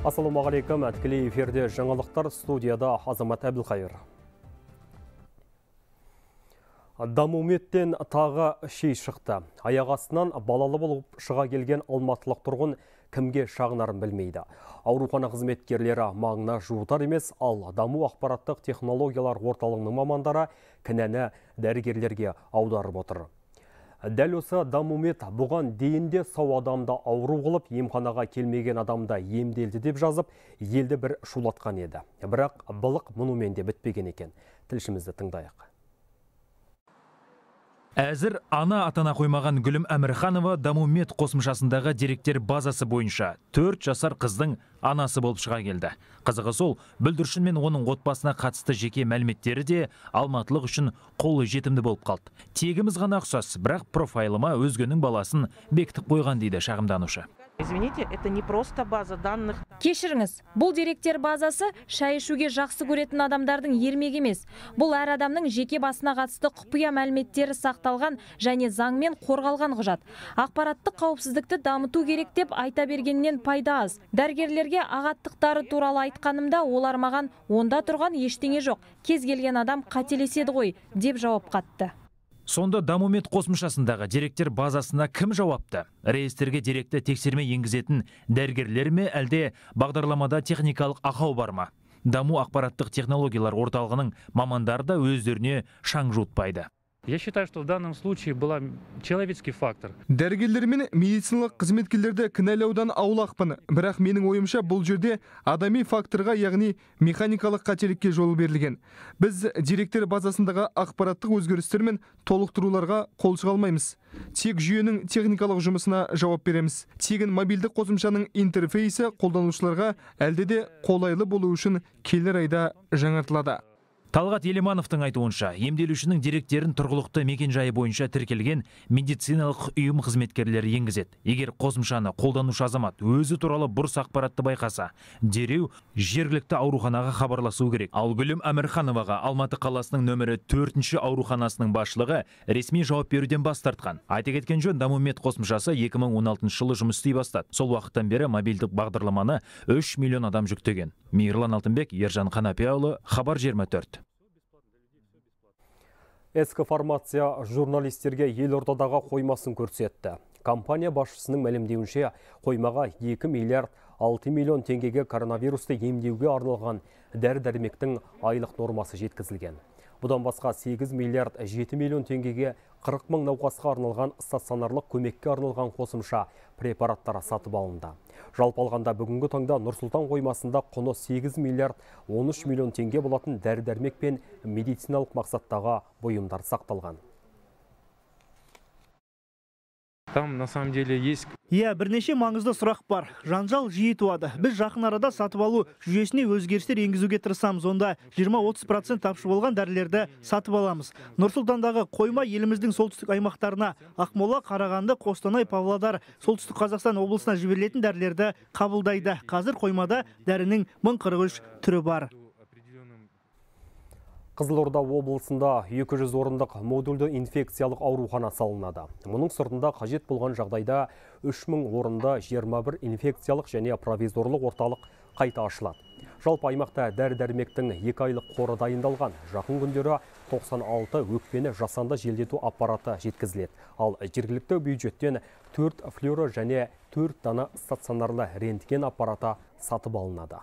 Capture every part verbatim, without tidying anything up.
Ассалаумағалейкум, тікелей эфирде жаңалықтар, студияда Азамат Әбілқайыр. Дамуметтен тағы шей шықты. Аяқ астынан балалы болып шыға келген алматылық тұрғын кімге шағынарын білмейді. Аурухана қызметкерлері маңына жуытар емес, ал даму ақпараттық технологиялар орталығының мамандары кінәні дәрігерлерге аударып отыр. Дәл осы Дамумет бұған дейінде сау адамда ауру қылып, емханаға келмеген адамда емделді деп жазып, елді бір шулатқан еді. Бірақ былық мұнымен де бітпеген екен. Тілшімізді тыңдайық. Әзір ана атана қоймаған Гүлім Әмірханова Дамумет қосымшасындағы деректер базасы бойынша төрт жасар қыздың анасы болып шыға келді. Қызығы сол, бүлдіршін мен оның отбасына қатысты жеке мәліметтері де алматылық үшін қолы жетімді болып қалды. Тегіміз ғана ұқсас, бірақ профайлыма өзгенің баласын бекітіп қойған дейді шағымданушы. Извините, это не просто база данных. Кешіріңіз, бұл деректер базасы шай ішуге жақсы көретін адамдардың ермегі емес. Бұл әр адамның жеке басына қатысты құпия мәліметтері сақталған және заңмен қорғалған құжат. Ақпараттық қауіпсіздікті дамыту керек деп айта бергеннен пайда аз. Дәрігерлерге ағаттықтары туралы айтқанымда олар маған онда тұрған ештеңе жоқ, кез келген адам қателеседі ғой деп жауап қатты. Сонда Дамумет қосымшасындағы деректер базасына кім жауапты? Реестрге деректі тексерме енгізетін дәрігерлер ме, әлде бағдарламада техникалық ақау бар ма? Даму ақпараттық технологиялар орталығының мамандары да өздеріне шаң жуытпайды. Я считаю, что в данном случае был человеческий фактор. Дәрігерлер мен медициналық қызметкерлерді кінәлаудан аулақпын, бірақ менің ойымша бұл жерде адами факторға, яғни механикалық қателікке жол берілген. Біз деректер базасындағы ақпараттық өзгерістер мен толықтыруларға қол шыға алмаймыз. Тек жүйенің техникалық жұмысына жауап береміз. Тегін мобильдік қосымшаның интерфейсі қолданушыларға әлде де қолайлы болу үшін келер айда жаңартылады. Талғат Елемановтың айтуынша, емделушінің деректерін тұрғылықты мекенжайы бойынша тіркелген медициналық ұйым қызметкерлері енгізеді. Егер қосымшаны қолданушы азамат өзі туралы бұрыс ақпаратты байқаса, дереу жергілікті ауруханаға хабарласу керек. Ал Гүлім Әмірхановаға Алматы қаласының нөмірі төртінші ауруханасының басшылығы ресми жауап беруден бас тартқан. Айта кеткен жөн, Дамумет қосымшасы екі мың он алтыншы жылы жұмыс істей бастады. Сол уақыттан бері мобильдік бағдарламаны үш миллион адам жүктеген. Мейірлан Алтынбек, Ержан Қанапияұлы, Хабар жиырма төрт. Ескі формация журналистерге елордадағы қоймасын көрсетті. Компания басшысының мәлімдеуінше қоймаға екі миллиард алты миллион теңгеге коронавирусты емдеуге арналған дәрі-дәрмектің айлық нормасы жеткізілген. Бұдан басқа сегіз миллиард жеті миллион теңгеге қырық мың науқасқа арналған стационарлық көмекке арналған қосымша препараттары сатып алынды. Жалпы алғанда бүгінгі таңда Нұр-Сұлтан қоймасында құны сегіз миллиард он үш миллион теңге болатын дәрі-дәрмек пен медициналық мақсаттағы бұйымдар сақталған. Там на самом деле есть... Иә, бірнеше маңызды сұрақ бар. Жанжал жиі туады. Біз жақын арада сатып алу жүйесіне өзгерістер енгізуге тырысамыз. Онда жиырма-отыз процент тапшы болған дәрілерді сатып аламыз. Нұр-Сұлтандағы қойма еліміздің солтүстік аймақтарына, Ақмола, Қарағанды, Қостанай, Павлодар, солтүстік Қазақстан облысына жіберілетін дәрілерді қабылдайды. Қазір қоймада дәрінің мың қырық үш түрі бар. Қызылорда облысында екі жүз орындық модульді инфекциялық аурухана салынады. Мұның сыртында қажет болған жағдайда үш мың орында жиырма бір инфекциялық және провизорлық орталық қайта ашылады. Жалпы аймақта дәрі-дәрмектің екі айлық қоры дайындалған. Жақын күндері тоқсан алты өкпені жасанды желдету аппараты жеткізіледі. Ал жергілікті бюджеттен төрт флюоро және төрт дана стационарлы рентген аппараты сатып алынады.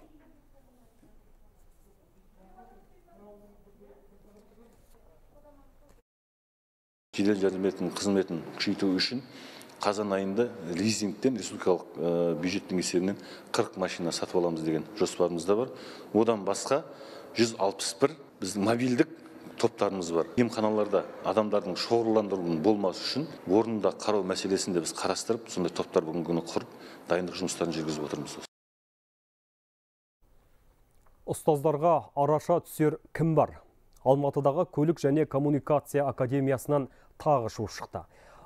Жедел жәрдем қызметін күшейту үшін қазан айында лизингтен республикалық бюджеттің есебінен қырық машина сатып аламыз деген жоспарымызда бар. Одан басқа жүз алпыс бір біздің мобильдік топтарымыз бар. Емханаларда адамдардың шоғырландырылуының болмасы үшін орнында қарау мәселесінде біз қарастырып, сондай топтар бүгінгі күні құрып, дайындық жұмыстарын жүргізіп отырмыз. Ұстаздарға араша түсер кім бар? Алматыдағы көлік және коммуникация академиясынан тағы шу шықты.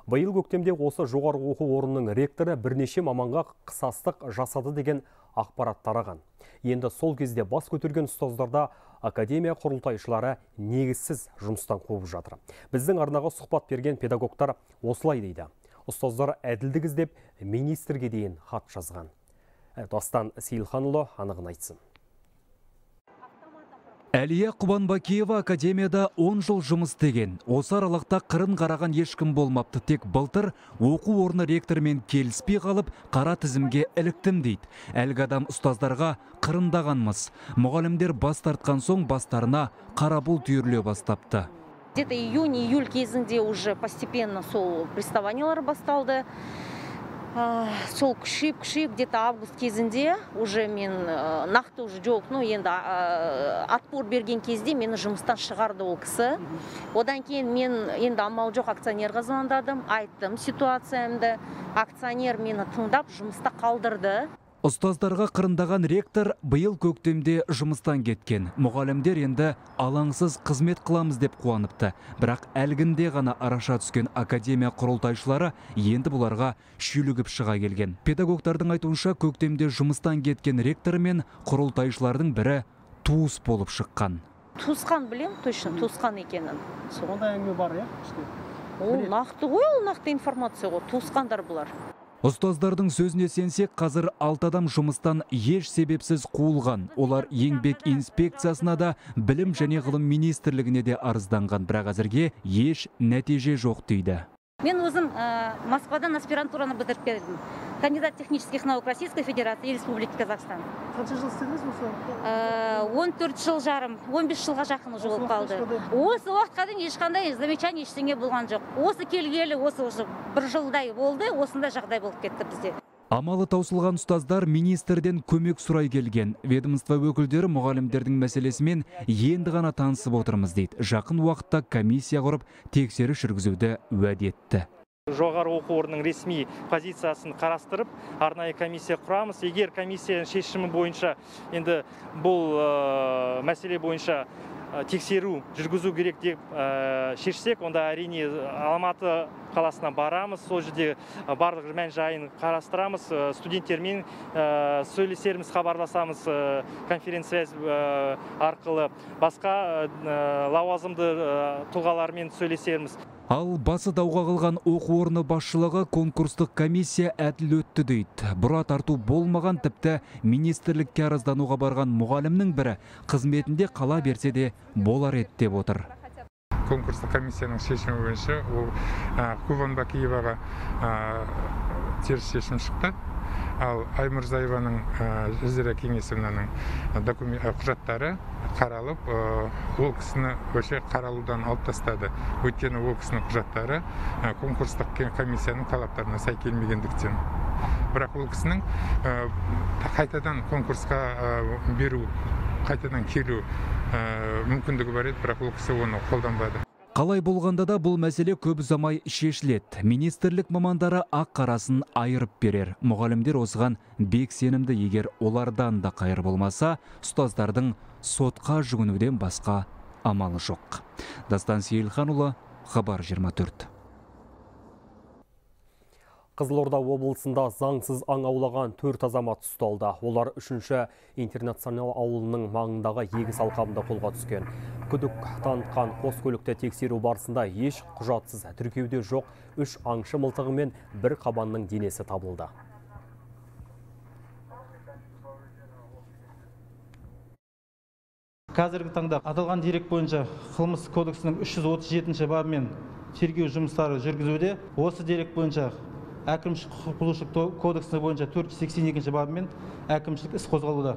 Биыл көктемде осы жоғарғы оқу орнының ректоры бірнеше маманға қысастық жасады деген ақпарат тараған. Енді сол кезде бас көтерген ұстаздарда академия құрылтайшылары негізсіз жұмыстан қуып жатыр. Біздің арнаға сұхбат берген педагогтар осылай дейді. Ұстаздар әділдік іздеп министрге дейін хат жазған. Дастан Сейілханұлы анығын айтсын. Әлия Құбанбакиева академияда он жыл жұмыс істеген. Осы аралықта қырын қараған ешкім болмапты. Тек былтыр оқу орны ректормен келіспей қалып, қара тізімге іліктім дейді. Әлгі адам ұстаздарға қырындағанмыз. Мұғалімдер бас тартқан соң бастарына қара бұлт үйіріле бастапты. Где-то июнь-июль кезінде уже постепенно сол приставаниялар басталды. Сол күшейіп күшейіп где-то август кезінде уже мен нақты уже жоқ, ну енді отпор берген кезде мені жұмыстан шығарды ол кісі. Одан кейін мен енді амал жоқ акционерға звондадым, айттым ситуациямды. Акционер мені тыңдап жұмыста қалдырды. Ұстаздарға қырындаған ректор биыл көктемде жұмыстан кеткен. Мұғалімдер енді алаңсыз қызмет қыламыз деп қуаныпты. Бірақ әлгінде ғана араша түскен академия құрылтайшылары енді бұларға шүйлігіп шыға келген. Педагогтардың айтуынша көктемде жұмыстан кеткен ректор мен құрылтайшылардың бірі туыс болып шыққан. Туысқан білем, точно туысқан екенін. Сонда әңгіме бар, иә? Ол нақты ғой, ол нақты информация ғой, туысқандар бұлар. Ұстаздардың сөзіне сенсек, қазір алты адам жұмыстан еш себепсіз қуылған. Олар еңбек инспекциясына да, білім және ғылым министрлігіне де арызданған. Бірақ әзірге еш нәтиже жоқ дейді. Мен өзім Москвадан аспирантураны бітіріп келдім. Кандидат технических наук Российской Федерации и Республики Казахстан. Қанша жыл істедіңіз осы? он төрт жыл жарым, он бес жылға жақын уже болып қалды. Осы уақытқа дейін ешқандай замечание ештеңе болған жоқ. Осы келгелі осы уже бір жылдай болды, осындай жағдай болып кетті бізде. Амалы таусылған ұстаздар министрден көмек сұрай келген. Ведомство өкілдері мұғалімдердің мәселесімен енді ғана танысып отырмыз дейді. Жақын уақытта комиссия құрып тексеріс жүргізуді уәде етті. Жоғары оқу орнының ресми позициясын қарастырып, арнайы комиссия құрамыз. Егер комиссияның шешімі бойынша, енді бұл мәселе бойынша тексеру жүргізу керек деп шешсек, онда әрине Алматы қаласына барамыз, сол жерде барлық мән жайын қарастырамыз, студенттермен сөйлесерміз, хабарласамыз конференция арқылы, басқа лауазымды тұлғалармен сөйлесерміз. Ал басы дауға қылған оқу орны басшылығы конкурстық комиссия әділ өтті дейді. Бұра тарту болмаған, тіпті министрлікке арыздануға барған мұғалімнің бірі қызметінде қала берсе де болар еді деп отыр. Конкурстық комиссияның шешімі бойынша ол Құбанбакиеваға теріс шешім шықты. Ал Аймұрзаеваның жүзірі кеңесімінің құжаттары қаралып, ол кісіні өше қаралудан алып тастады. Өйткені ол кісінің құжаттары конкурстық комиссияның талаптарына сай келмегендіктен. Бірақ ол кісінің қайтадан конкурсқа беру, қайтадан келу мүмкіндігі бар еді, бірақ ол кісі оны қолданбады. Қалай болғанда да бұл мәселе көп ұзамай шешіледі. Министрлік мамандары ақ қарасын айырып берер. Мұғалімдер осыған бек сенімді, егер олардан да қайыр болмаса, ұстаздардың сотқа жүгінуден басқа амалы жоқ. Дастан Сейілханұлы, Хабар жиырма төрт. Қызылорда облысында заңсыз аң аулаған төрт азамат ұсталды. Олар үшінші интернационал ауылының маңындағы егіс алқабында қолға түскен. Күдік танытқан қос көлікті тексеру барысында еш құжатсыз тіркеуде жоқ үш аңшы мылтығы мен бір қабанның денесі табылды. Қазіргі таңда аталған дерек бойынша қылмыс кодексінің үш жүз отыз жетінші бабымен тергеу жұмыстары жүргізуде. Осы дерек бойынша әкімшілік құқық бұзушылық кодексі бойынша төрт жүз сексен екінші бабымен әкімшілік іс қозғалуда.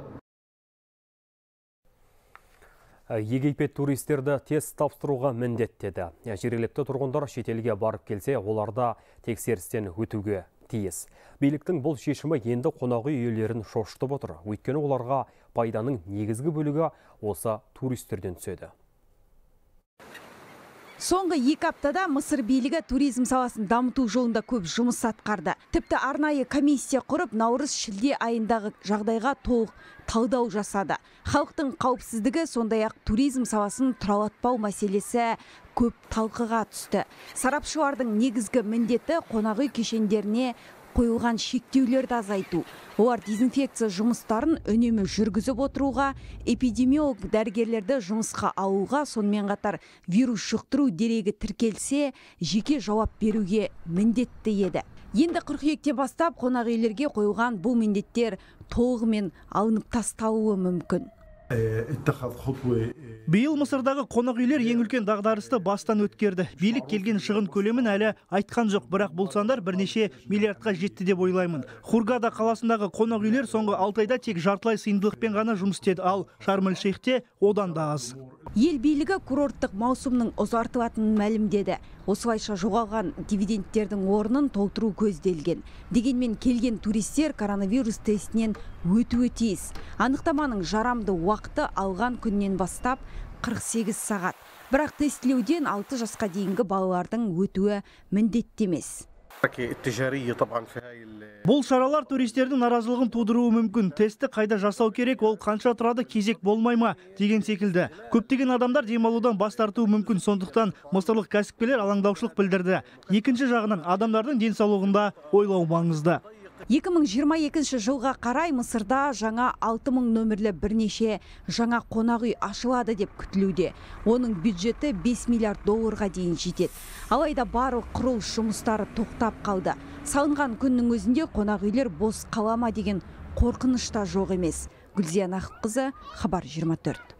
Египет туристерді тест тапсыруға міндеттеді. Жергілікті тұрғындар шетелге барып келсе, оларда тексерістен өтуге тиіс. Биліктің бұл шешімі енді қонақ үй иелерін шошытып отыр. Өйткені оларға пайданың негізгі бөлігі осы туристерден түседі. Соңғы екі аптада Мысыр билігі туризм саласын дамыту жолында көп жұмыс атқарды. Тіпті арнайы комиссия құрып, наурыз-шілде айындағы жағдайға толық талдау жасады. Халықтың қауіпсіздігі, сондай-ақ туризм саласын тұралатпау мәселесі көп талқыға түсті. Сарапшылардың негізгі міндеті қонақ үй кешендеріне қойылған шектеулерді азайту. Олар дезинфекция жұмыстарын үнемі жүргізіп отыруға, эпидемиолог дәрігерлерді жұмысқа алуға, сонымен қатар вирус жұқтыру дерегі тіркелсе, жеке жауап беруге міндетті еді. Енді қыркүйекте бастап қонақ үйлерге қойылған бұл міндеттер толығымен алынып тасталуы мүмкін. Биыл Мысырдағы қонақ үйлер ең үлкен дағдарысты бастан өткерді. Билік келген шығын көлемін әлі айтқан жоқ, бірақ бұл сандар бірнеше миллиардқа жетті деп ойлаймын. Хургада қаласындағы қонақ үйлер соңғы алты айда тек жартылай сыйымдылықпен ғана жұмыс істеді, ал Шарм-эль-Шейхте одан да аз. Ел билігі курорттық маусымның ұзартылатынын мәлімдеді. Осылайша жоғалған дивидендтердің орнын толтыру көзделген. Дегенмен келген туристер коронавирус тестінен өтуі тиіс. Анықтаманың жарамды уақыты алған күннен бастап қырық сегіз сағат. Бірақ тестілеуден алты жасқа дейінгі балалардың өтуі міндетті емес. Бұл шаралар туристердің наразылығын тудыруы мүмкін. Тестті қайда жасау керек, ол қанша тұрады, кезек болмай ма деген секілді. Көптеген адамдар демалудан бас тартуы мүмкін, сондықтан мысырлық кәсіпкерлер алаңдаушылық білдірді. Екінші жағынан адамдардың денсаулығында ойлау маңызды. екі мың жиырма екінші жылға қарай Мысырда жаңа алты мың нөмірлі бірнеше жаңа қонақ үй ашылады деп күтілуде. Оның бюджеті бес миллиард долларға дейін жетеді. Алайда барлық құрылыс жұмыстары тоқтап қалды. Салынған күннің өзінде қонақ үйлер бос қала ма деген қорқыныш та жоқ емес. Гүлзия Нақыпқызы, Хабар жиырма төрт.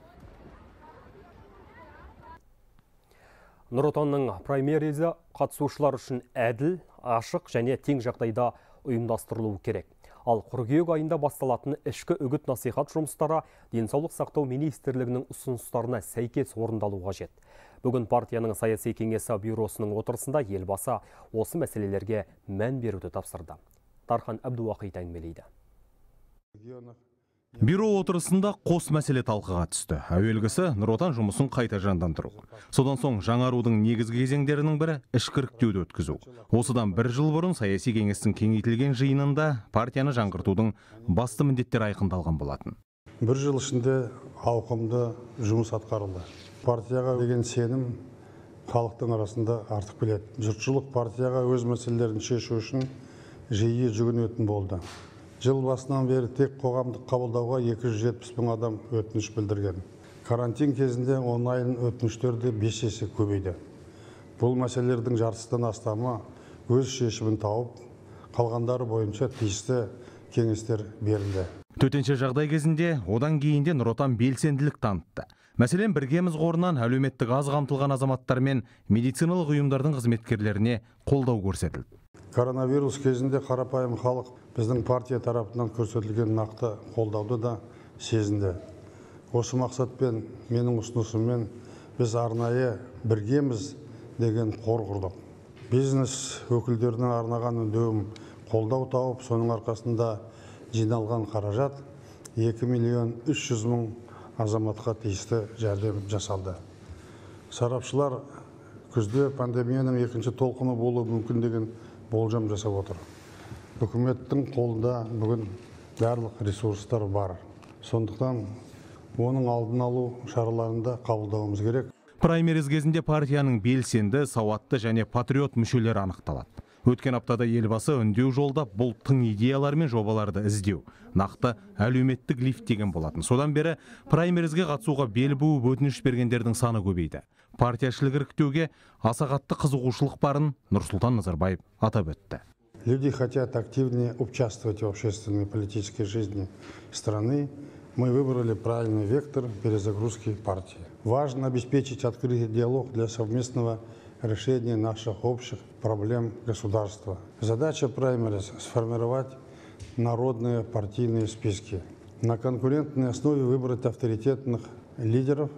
Нұр Отанның праймеризі қатысушылар үшін әділ, ашық және тең жағдайда ұйымдастырылуы керек. Ал қыркүйек айында басталатын ішкі үгіт насихат жұмыстары денсаулық сақтау министрлігінің ұсыныстарына сәйкес орындалуы қажет. Бүгін партияның саяси кеңесі бюросының отырысында елбасы осы мәселелерге мән беруді тапсырды. Тархан Әбдуақит әңгімелейді. Бюро отырысында қос мәселе талқыға түсті. Әуелгісі Нұр Отан жұмысын қайта жандандыру. Содан соң жаңарудың негізгі кезеңдерінің бірі ішкіріктеуді өткізу. Осыдан бір жыл бұрын саяси кеңестің кеңейтілген жиынында партияны жаңғыртудың басты міндеттері айқындалған болатын. Бір жыл ішінде ауқымды жұмыс атқарылды. Партияға деген сенім халықтың арасында артып келеді. Жұртшылық партияға өз мәселелерін шешу үшін жиі жүгінетін болды. Жыл басынан бері тек қоғамдық қабылдауға екі жүз жетпіс мың адам өтініш білдірген. Карантин кезінде онлайн өтініштерді бес есе көбейді. Бұл мәселелердің жартысынан астамы өз шешімін тауып, қалғандары бойынша тиісті кеңестер берілді. Төтенше жағдай кезінде одан кейінде Нұр Отан белсенділік танытты. Мәселен, біргеміз қорынан әлеуметтік аз қамтылған азаматтар мен медициналық ұйымдардың қызметкерлеріне қолдау көрсетілді. Коронавирус кезінде қарапайым халық біздің партия тарапынан көрсетілген нақты қолдауды да сезінді. Осы мақсатпен менің ұсынысыммен біз арнайы біргеміз деген қор құрдық. Бизнес өкілдеріне арнаған үндеуім қолдау тауып, соның арқасында жиналған қаражат екі миллион үш жүз мың азаматқа тиісті жәрдем жасалды. Сарапшылар күзде пандемияның екінші толқыны болуы мүмкін деген болжам жасап отыр. Үкіметтің қолында бүгін барлық ресурстар бар. Сондықтан оның алдын алу шараларында қабылдауымыз керек. Праймериз кезінде партияның белсенді, сауатты және патриот мүшелері анықталады. Өткен аптада елбасы үндеу жолдап бұл тың идеялар мен жобаларды іздеу, нақты әлеуметтік лифт деген болатын. Содан бері праймеризге қатысуға бел буып өтініш бергендердің саны көбейді. Партияшылық іріктеуге аса қатты қызығушылық барын Нұрсұлтан Назарбаев атап өтті. Люди хотят активнее участвовать в общественной и политической жизни страны. Мы выбрали правильный вектор перезагрузки партии. Важно обеспечить открытый диалог для совместного решения наших общих проблем государства. Задача праймериз – сформировать народные партийные списки. На конкурентной основе выбрать авторитетных лидеров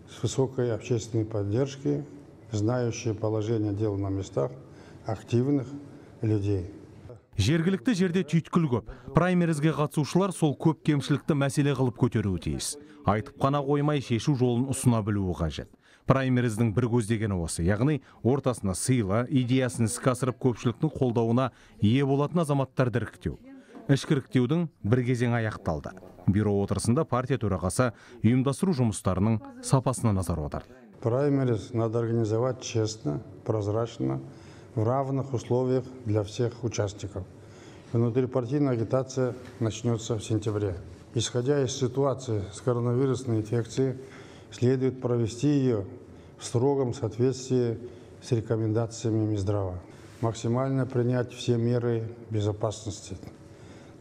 с высокой общественной поддержкой, знающие положение дел на местах, активных людей. Жергілікті жерде түйткіл көп. Праймеризге қатысушылар сол көп кемшілікті мәселе қылып көтеруі тиіс. Айтып қана қоймай шешу жолын ұсына білуі қажет. Праймериздің бір көздегені осы, яғни ортасына сыйлы, идеясын іске асырып көпшіліктің қолдауына ие болатын азаматтарды іріктеу. Ішкіріктеудің бір кезең аяқталды. Бюро отырысында партия төрағасы ұйымдастыру жұмыстарының сапасына назар аударды. Праймериз надо организовать честно, прозрачно, в равных условиях для всех участников. Внутрипартийная агитация начнется в сентябре. Исходя из ситуации с коронавирусной инфекцией, следует провести ее в строгом соответствии с рекомендациями Минздрава. максимально принять все меры безопасности.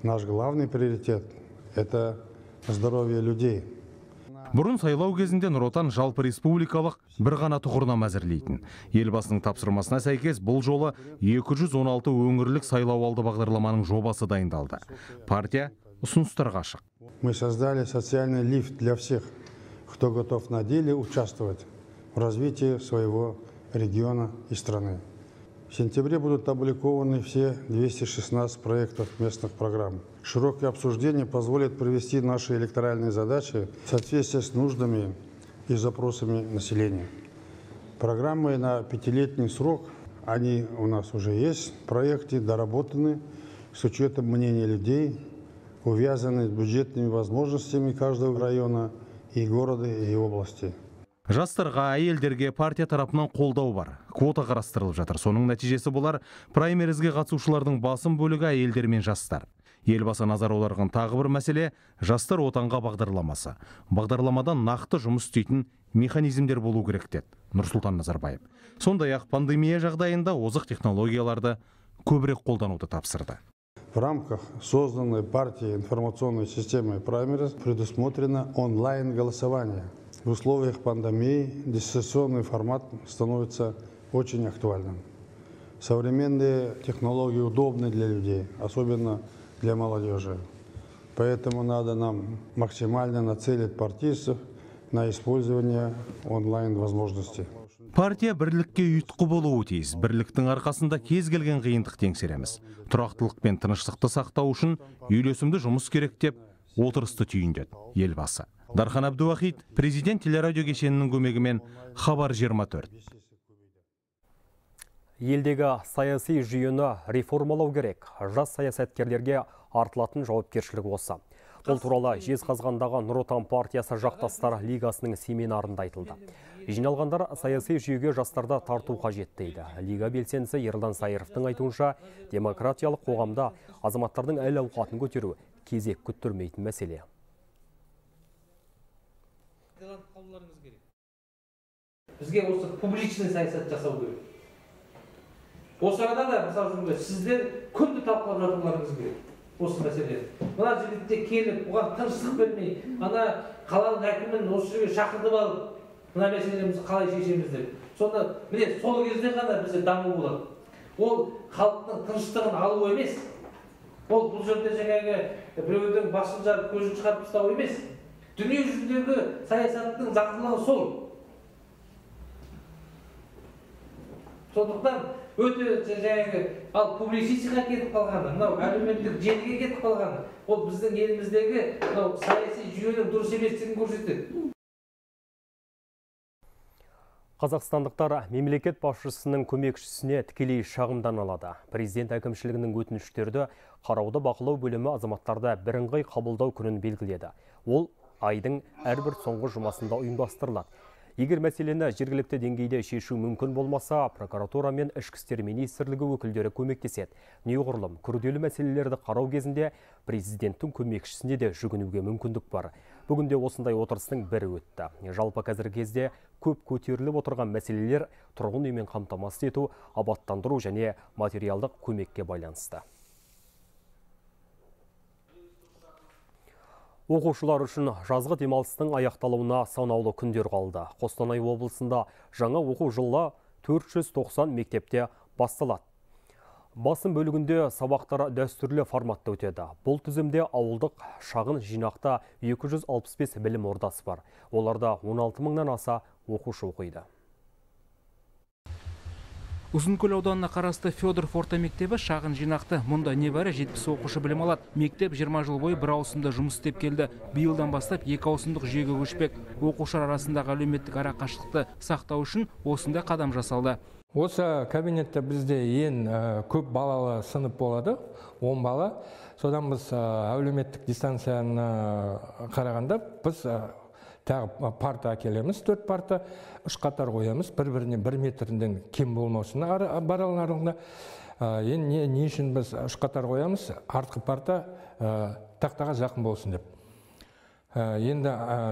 Наш главный приоритет – это здоровье людей. Бұрын сайлау кезінде Нұр Отан жалпы республикалық бір ғана тұғырнама әзірлейтін. Елбасының тапсырмасына сәйкес бұл жолы екі жүз он алты өңірлік сайлау алды бағдарламаның жобасы дайындалды. Партия ұсыныстарға ашық. Мы создали социальный лифт для всех, кто готов на деле участвовать в развитии своего региона и страны. В сентябре будут опубликованы все двести шестнадцать проектов местных программ. Широкое обсуждение позволит привести наши электоральные задачи в соответствии с нуждами и запросами населения. Программы на пятилетний срок, они у нас уже есть, проекты доработаны с учетом мнения людей, увязаны с бюджетными возможностями каждого района и города и области. Жастарға, әйелдерге партия тарапынан қолдау бар. Квота қарастырылып жатыр. Соның нәтижесі болар, праймеризге қатысушылардың басым бөлігі әйелдер мен жастар. Елбасы назар аударған тағы бір мәселе жастар отанға бағдарламасы. Бағдарламадан нақты жұмыс істейтін механизмдер болу керек деді Нұрсұлтан Назарбаев. Сондай-ақ пандемия жағдайында озық технологияларды көбірек қолдануды тапсырды. В рамках созданной партией информационной системы праймериз предусмотрено онлайн-голосование. В условиях пандемии дистанционный формат становится очень актуальным. Современные технологии удобны для людей, особенно для молодежи. Поэтому надо нам максимально нацелить партийцев на использование онлайн-возможностей. Партия бірлікке ұйытқы болуы тиіс. Бірліктің арқасында кез келген қиындық теңсереміз. Тұрақтылық пен тыныштықты сақтау үшін үйлесімді жұмыс керек деп отырысты түйіндеді елбасы. Дархан Абдуахит, президент телерадио кешенінің көмегімен Хабар жиырма төрт. Елдегі саяси жүйені реформалау керек. Жас саясаткерлерге артылатын жауапкершілік осы. Бұл туралы Жезқазғандағы Нұр Отан партиясы жақтастар лигасының семинарында айтылды. Жиналғандар саяси жүйеге жастарды тарту қажет дейді. Лига белсендісі Ерлан Сайыровтың айтуынша, демократиялық қоғамда азаматтардың әл ауқатын көтеру кезек күттірмейтін мәселе. Бізге осы публичный саясат жасау керек. Осы арада да, мысалы, сіздер күнді талқылап жатуларыңыз керек. Осы мәселе. Мына жерде келіп, оған тыныштық бермей, ана қаланың әкімін осы жерге шақыртып алып, мына мәселемізді қалай шешеміз деп. Сонда, міне, сол кезде ғана бізде даму болады. Ол халықтың тыныштығын алу емес. Ол бұл жерде жаңағы біреудің басын жарып, көзін шығарып тастау емес. Дүние жүзіндегі саясаттың заңдылығы сол. Сондықтан өте жаңағы ал публицистикаға кетіп қалғаны, мынау әлеуметтік желіге кетіп қалғаны, ол біздің еліміздегі мынау саяси жүйенің дұрыс еместігін көрсетеді. Қазақстандықтар мемлекет басшысының көмекшісіне тікелей шағымдан алады. Президент әкімшілігінің өтініштерді қарауды бақылау бөлімі азаматтарда бірыңғай қабылдау күнін белгіледі. Ол айдың әрбір соңғы жұмасында ұйымдастырылады. Егер мәселені жергілікті деңгейде шешу мүмкін болмаса, прокуратура мен ішкі істер министрлігі өкілдері көмектеседі. Неғұрлым күрделі мәселелерді қарау кезінде президенттің көмекшісіне де жүгінуге мүмкіндік бар. Бүгінде осындай отырыстың бірі өтті. Жалпы қазіргі кезде көп көтеріліп отырған мәселелер тұрғын үймен қамтамасыз ету, абаттандыру және материалдық көмекке байланысты. Оқушылар үшін жазғы демалыстың аяқталуына санаулы күндер қалды. Қостанай облысында жаңа оқу жылы төрт жүз тоқсан мектепте басталады. Басым бөлігінде сабақтар дәстүрлі форматта өтеді. Бұл тізімде ауылдық шағын жинақта екі жүз алпыс бес білім ордасы бар. Оларда он алты мыңнан аса оқушы оқиды. Ұзынкөл ауданына қарасты Федоров орта мектебі шағын жинақты. Мұнда небәрі жетпіс оқушы білім алады. Мектеп жиырма жыл бойы бір ауысымда жұмыс істеп келді. Биылдан бастап екі ауысымдық жүйеге көшпек. Оқушылар арасындағы әлеуметтік арақашықтықты сақтау үшін осындай қадам жасалды. Осы кабинетте бізде ең көп балалы сынып болады, он бала. Содан біз әлеуметтік дистанцияны қарағанда біз тағы парта әкелеміз, төрт парта, үш қатар қоямыз, бір-бірінен бір метрден кем болмаусын баралың аралығында. Енді не үшін біз үш қатар қоямыз, артқы парта тақтаға жақын болсын деп. Енді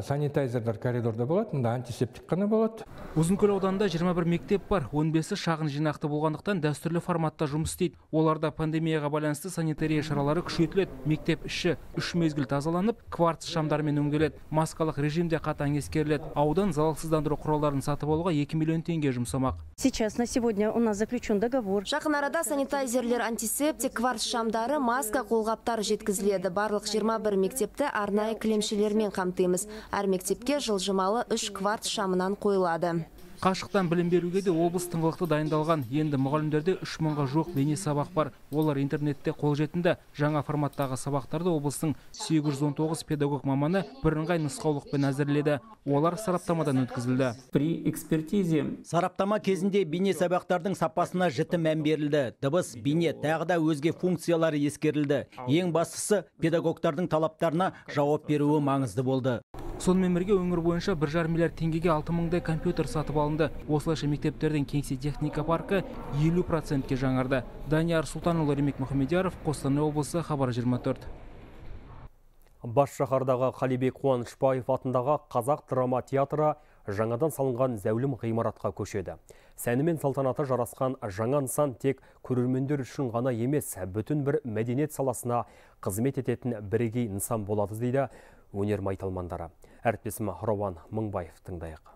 санитайзерлер коридорда болады, мында антисептик қана болады. Ұзынкөл ауданында жиырма бір мектеп бар, он бесі шағын жинақты болғандықтан дәстүрлі форматта жұмыс істейді. Оларда пандемияға байланысты санитария шаралары күшейтіледі. Мектеп іші үш мезгіл тазаланып, кварц шамдармен өңделеді. Маскалық режимде қатаң ескеріледі. Аудан залалсыздандыру құралдарын сатып алуға екі миллион теңге жұмсамақ. Сейчас на сегодня у нас заключен договор. Жақын арада санитайзерлер, антисептик, кварц шамдары, маска, қолғаптар жеткізіледі. Барлық жиырма бір мектепті арнайы кілемшелермен қамтимыз. Әр мектепке жылжымалы үш кварц шамынан қойылады. Қашықтан білім беруге де облыс тыңғылықты дайындалған. Енді мұғалімдерде үш мыңға жоқ бейне сабақ бар. Олар интернетте қолжетімді. Жаңа форматтағы сабақтарды облыстың сегіз жүз он тоғыз педагог маманы бірыңғай нұсқаулықпен әзірледі. Олар сараптамадан өткізілді. При экспертизе сараптама кезінде бейне сабақтардың сапасына жіті мән берілді. Дыбыс, бейне, тағы да өзге функциялары ескерілді. Ең бастысы педагогтардың талаптарына жауап беруі маңызды болды. Сонымен бірге өңір бойынша бір жарым миллиард теңгеге алты мыңдай компьютер сатып алынды. Осылайша мектептердің кеңсе техника паркі елу процентке жаңарды. Данияр Сұлтанұлы, Ремек Мұхамедияров, Қостанай облысы, Хабар жиырма төрт. Бас шаһардағы Қалибек Қуанышбаев атындағы Қазақ драма театры жаңадан салынған зәулім ғимаратқа көшеді. Сәні мен салтанаты жарасқан жаңа нысан тек көрермендер үшін ғана емес, бүтін бір мәдениет саласына қызмет ететін бірегей нысан болады дейді өнер майталмандары. Әріптесім Рауан Мыңбаев тыңдайық.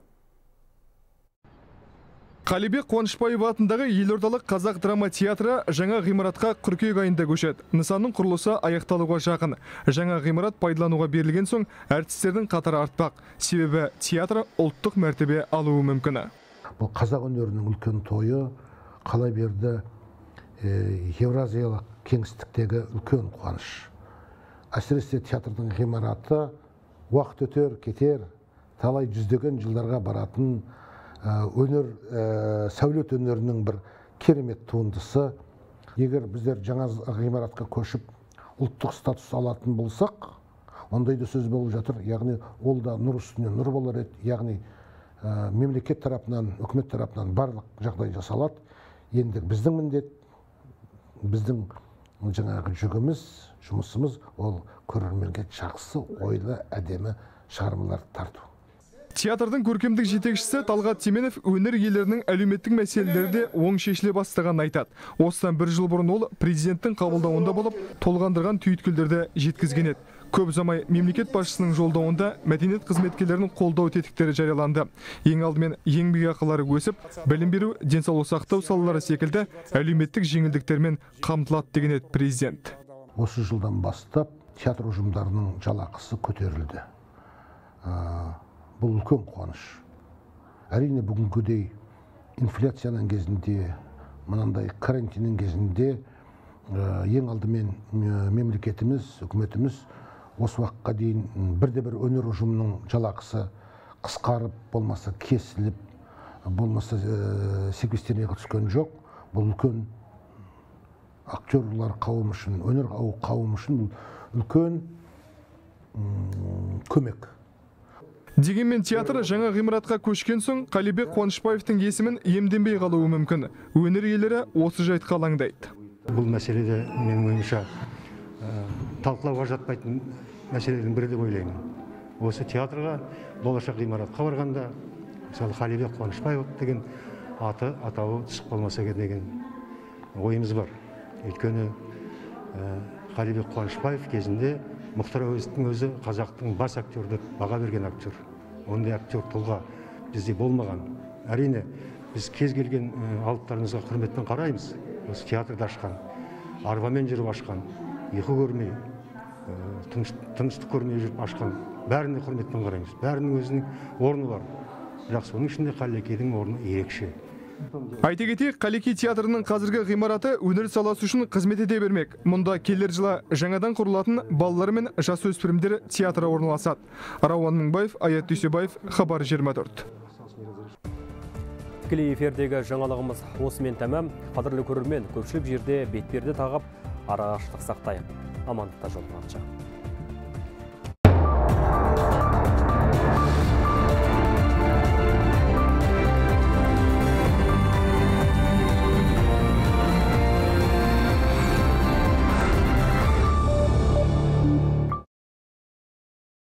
Қалибек Қуанышбаев атындағы елордалық Қазақ драма театры жаңа ғимаратқа қыркүйек айында көшеді. Нысанның құрылысы аяқталуға жақын. Жаңа ғимарат пайдалануға берілген соң әртістердің қатары артпақ. Себебі театр ұлттық мәртебе алуы мүмкін. Бұл қазақ өнерінің үлкен тойы, қала берді Евразиялық кеңістіктегі үлкен қуаныш. Әсіресе театрдың ғимараты уақыт өтер, кетер, талай жүздеген жылдарға баратын өнер, сәулет өнерінің бір керемет туындысы. Егер біздер жаңа ғимаратқа көшіп ұлттық статус алатын болсақ, ондай да сөз болып жатыр. Яғни ол да нұр үстіне нұр болар еді. Яғни мемлекет тарапынан, үкімет тарапынан барлық жағдай жасалады. Енді біздің міндет, біздің жаңағы жүгіміз, жұмысымыз ол көрерменге жақсы, ойлы, әдемі шығармалар тарту. Театрдың көркемдік жетекшісі Талғат Теменов өнер иелерінің әлеуметтік мәселелерде оң шешіле бастағанын айтады. Осыдан бір жыл бұрын ол президенттің қабылдауында болып, толғандырған түйіткілдерді жеткізген еді. Көп ұзамай мемлекет басшысының жолдауында мәдениет қызметкерлерінің қолдау тетіктері жарияланды. Ең алдымен еңбекақылары өсіп, білім беру, денсаулық сақтау салалары секілді әлеуметтік жеңілдіктермен қамтылады деген еді президент. Осы жылдан бастап театр ұжымдарының жалақысы көтерілді. Бұл үлкен қуаныш. Әрине бүгінгідей инфляцияның кезінде, мынандай карантиннің кезінде ең алдымен мемлекетіміз, үкіметіміз осы уақытқа дейін бірде-бір өнер ұжымының жалақысы қысқарып, болмаса кесіліп, болмаса секвестеріне түскен жоқ. Бұл үлкен актерлар қауымы үшін, өнер қауымы үшін үлкен көмек. Дегенмен театр жаңа ғимаратқа көшкен соң Қалибек Қуанышбаевтың есімін иемденбей қалуы мүмкін. Өнер иелері осы жайтқа алаңдайды. Бұл мәселеде менің ойымша талқылауға жатпайтын мәселенің бірі деп ойлаймын. Осы театрға, болашақ ғимаратқа барғанда, мысалы Қалибек Қуанышбаев деген аты, атауы түсіп қалмаса деген ойымыз бар. Өйткені Қалибек Қуанышбаев кезінде Мұхтар Әуезовтің өзі қазақтың бас актер деп баға берген актер. Ондай актер тұлға бізде болмаған. Әрине, біз кез келген алыптарымызға құрметпен қараймыз. Осы театрды ашқан, арбамен жүріп ашқан, ұйқы көрмей, тыныштық көрмей жүріп ашқан, бәріне құрметпен қараймыз. Бәрінің өзінің орны бар. Бірақ соның ішінде Қалекейдің орны ерекше. Айта кетейік, Қалекей театрының қазіргі ғимараты өнер саласы үшін қызмет ете бермек. Мұнда келер жылы жаңадан құрылатын балалар мен жасөспірімдер театры орналасады. Рауан Мыңбаев, Аят Дүйсебаев, Хабар жиырма төрт. Тікелей эфирдегі жаңалығымыз осымен тәмам. Қадірлі көрермен, көпшілік жерде бетперде тағып, арақашықтық сақтайық. Амандықта жолығанша.